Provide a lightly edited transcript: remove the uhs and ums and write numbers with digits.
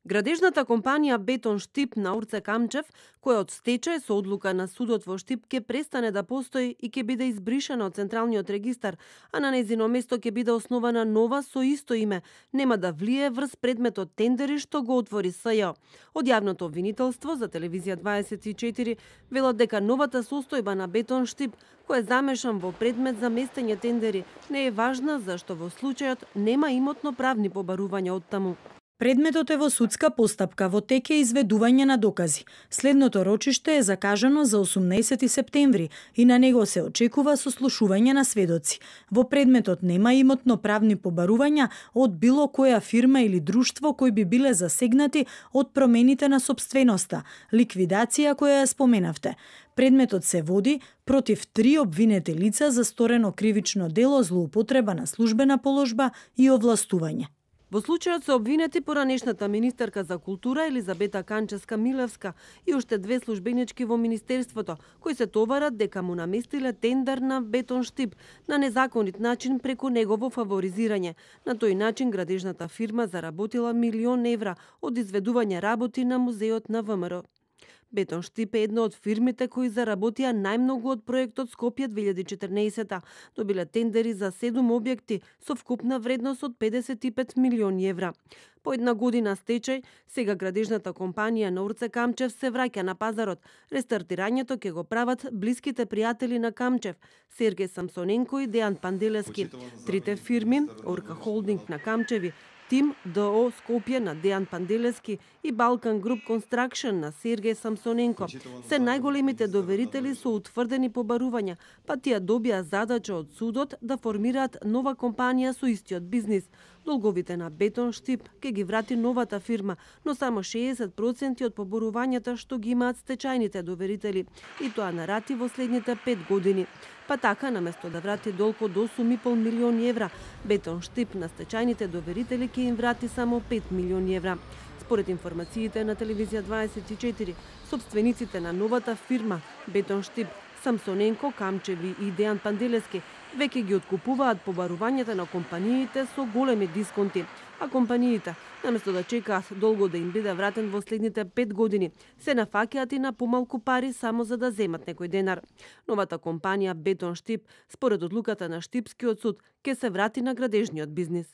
Градежната компанија Бетон Штип на Урце Камчев, која од стечај со одлука на судот во Штип ќе престане да постои и ќе биде избришена од Централниот регистар, а на нејзино место ќе биде основана нова со исто име, нема да влие врз предметот тендери што го отвори СЈ. Од јавното обвинителство за телевизија 24 велат дека новата состојба на Бетон Штип, кој е замешан во предмет за местење тендери, не е важна зашто во случајот нема имотно правни побарувања од таму. Предметот е во судска постапка, во тек е изведување на докази. Следното рочиште е закажано за 18 септември и на него се очекува сослушување на сведоци. Во предметот нема имотно правни побарувања од било која фирма или друштво кои би биле засегнати од промените на сопственоста, ликвидација која ја споменавте. Предметот се води против 3 обвинети лица за сторено кривично дело злоупотреба на службена положба и овластување. Во случајот се обвинети поранешната министерка за култура Елизабета Канчевска-Милевска и уште 2 службенички во министерството, кои се товарат дека му наместиле тендер на Бетон Штип на незаконит начин преку негово фаворизирање. На тој начин градежната фирма заработила €1.000.000 од изведување работи на музеот на ВМРО. Бетон Штип е една од фирмите кои заработија најмногу од проектот Скопје 2014. Добиле тендери за 7 објекти со вкупна вредност од €55 милиони. По една година стечај, сега градежната компанија на Урце Камчев се враќа на пазарот. Рестартирањето ќе го прават блиските пријатели на Камчев, Сергеј Самсоненко и Дејан Панделевски. Трите фирми, Орка Холдинг на Камчеви, Тим ДО Скопје на Дејан Панделевски и Балкан Груп Констракшн на Сергеј Самсоненко се најголемите доверители со утврдени побарувања, па тие добија задача од судот да формираат нова компанија со истиот бизнис. Долговите на Бетон Штип ќе ги врати новата фирма, но само 60% од поборувањата што ги имаат стечајните доверители, и тоа на рати во следните 5 години. Па така, наместо да врати долг од €8,5 милиони, Бетон Штип на стечајните доверители ќе им врати само €5 милиони. Според информациите на телевизија 24, собствениците на новата фирма Бетон Штип, Самсоненко, Камчеви и Дејан Панделевски веќе ги откупуваат побарувањата на компаниите со големи дисконти, а компаниите, наместо да чекаат долго да им биде вратен во следните 5 години, се нафаќаат и на помалку пари само за да земат некој денар. Новата компанија Бетон Штип, според одлуката на Штипскиот суд, ќе се врати на градежниот бизнис.